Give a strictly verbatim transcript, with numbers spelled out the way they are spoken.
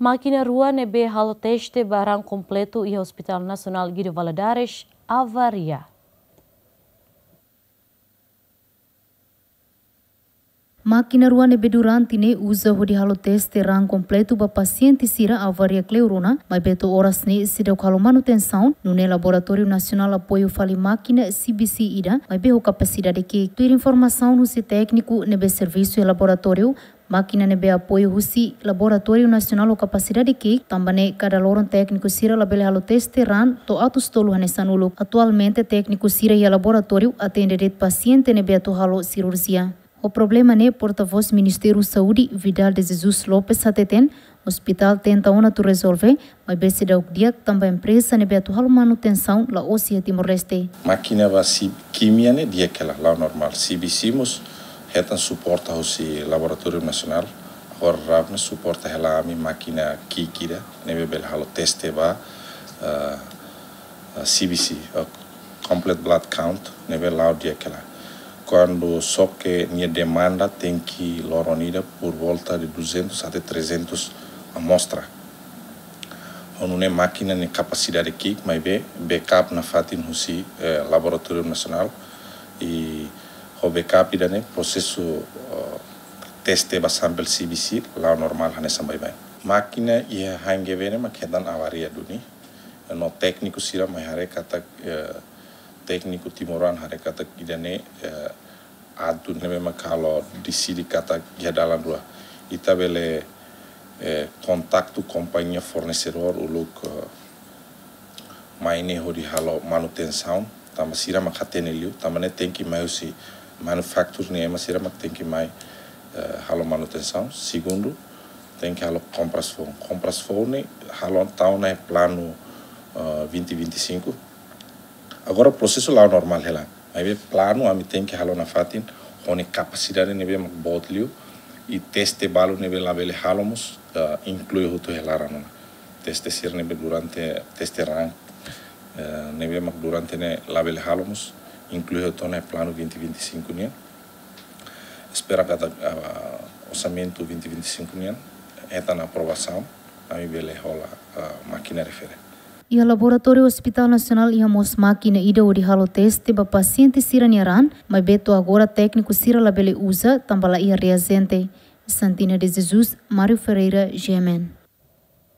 Mákina rua ne'ebé halo teste ba raan kompletu iha Hospital Nasionál Guido Valadares avaria. Mákina rua ne'ebé durante ne'e uza hodi halo teste raan kompletu ba pasiente sira avaria kleur ona, maibé to'o oras ne'e seidauk halo manutensaun, nune'e Laboratóriu Nasionál apoiu fali mákina C B C ida, maibé ho kapasidade ki'ik. Tuir informasaun husi tékniku ne'ebé servisu iha laboratóriu, mákina ne'ebé apoiu husi Laboratóriu Nasionál ho kapasidade ki'ik, tanba ne'e kada loron tékniku sira labele halo teste raan to'o atus tolu hanesan uluk. Atualmente tékniku sira iha laboratóriu atende de'it pasiente ne'ebé atu halo sirurjia. Ho problema ne'e, portavós Ministériu Saúde, Vidal de Jesus Lopes hateten, ospitál tenta ona atu rezolve, maibé seidauk di'ak tanba empreza ne'ebé atu halo manutensaun la'ós iha Timor-Leste. Mákina ba si kimia ne'e di'ak hela, la'o normál. C B C mós hetan suporta husi Laboratóriu Nasionál. Agora RAV ne'e suporta hela ami mákina ki'ik ida ne'ebé bele halo teste ba, ah, ah, C B C, ah, complete blood count, ne'ebé la'o di'ak hela. Kuandu xoke nia demanda tenke loron ida por volta de duzentos até trezentos amostra. Ho nune'e mákina ne'e kapasidade ki'ik, maibé backup nafatin husi, eh, Laboratóriu Nasionál, i ho backup ida-ne'e prosesu, eh, teste ba sample C B C la'o normál hanesan baibain. Mákina iha HNGV ne'e mak hetan avaria duni. No tékniku sira mai haree katak, eh, tékniku timoroan haree katak ida-ne'e, eh, atu ne'ebé mak halo deside katak iha dalan rua. Ita bele, eh, kontaktu kompañia fornesedór uluk, eh, mai ne'e hodi halo manutensaun, tanba sira mak hatene liu, tanba ne'e tenke mai husi manufacturer ne'e, ema sira mak tenke mai, eh, halo manutensaun. Segundu, tenke halo kompras foun. Kompras foun ne'e halo tau ona iha planu, eh, vinte vinte e cinco. Agora prosesu la'o normál hela. Maibé planu ami tenke halo nafatin, ho nia kapasidade ne'ebé mak boot liu, i teste balu ne'ebé labele halo mós, eh, inklui hotu iha laran ona. Teste sira ne'ebé durante, teste raan, eh, ne'ebé mak durante ne'e labele halo mós, inklui hotu ona iha planu vinte vinte e cinco nian. Espera katak, ah, orsamentu vinte vinte e cinco nian hetan aprovasaun, ami bele hola, ah, mákina refere. Iha laboratóriu Hospital Nasionál iha mós mákina ida hodi halo teste ba pasiente sira-nia raan, maibé to'o agora tékniku sira labele uza, tanba la iha reajente. Santina de Jesus, Mário Ferreira, G M N.